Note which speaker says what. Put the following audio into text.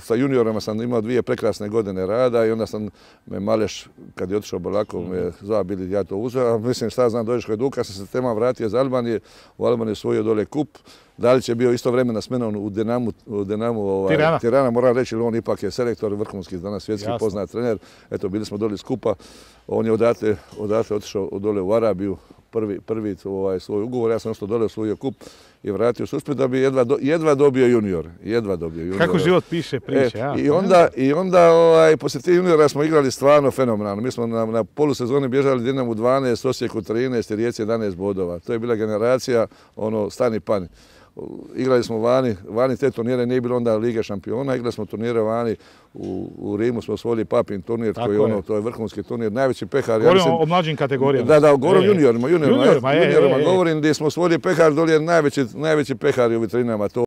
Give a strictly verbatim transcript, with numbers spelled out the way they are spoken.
Speaker 1: sa juniorima sam imao dvije prekrasne godine rada i onda sam me Maleš, kad je otišao Bolako, me zvao bili ja to uzeo. Mislim šta znam, dođeš Hajduka, sam se tema vratio iz Albanije, u Albaniji osvojio dole kup. Dalić je bio isto vremena s menom u Dinamu, u Dinamu ovaj,
Speaker 2: Tirana.
Speaker 1: Tirana, moram reći, on ipak je selektor, vrhunski danas svjetski
Speaker 2: Jasno.
Speaker 1: poznat trener. Eto, bili smo dole skupa. On je odatle, odatle otišao dole u Arabiju, prvi, prvi ovaj, svoj ugovor. Ja sam ostao dole, osvojio kup i vratio se u Split da bi jedva, do, jedva dobio junior. Jedva dobio junior.
Speaker 2: Kako život piše priče,
Speaker 1: e,
Speaker 2: ja.
Speaker 1: I onda, i onda ovaj, poslije tih juniora smo igrali stvarno fenomenalno. Mi smo na, na polusezoni bježali Dinamu dvanaest, Osijeku trinaest i Rijeci jedanaest bodova. To je bila generacija, ono, stani pani. Igrali smo vani, vani te turnire, nije bilo onda Lige šampiona, igrali smo turnire vani, u, u Rimu smo osvojili Papin turnir, koji je ono, to je vrhunski turnir, najveći pehar.
Speaker 2: Govorimo
Speaker 1: ja mislim,
Speaker 2: o mlađim kategorijama.
Speaker 1: Da, da, govorim juniorima, juniorima,
Speaker 2: juniorima,
Speaker 1: juniorima,
Speaker 2: je, je, je.
Speaker 1: govorim gdje smo osvojili pehar, dolje je najveći, najveći pehar u vitrinama. To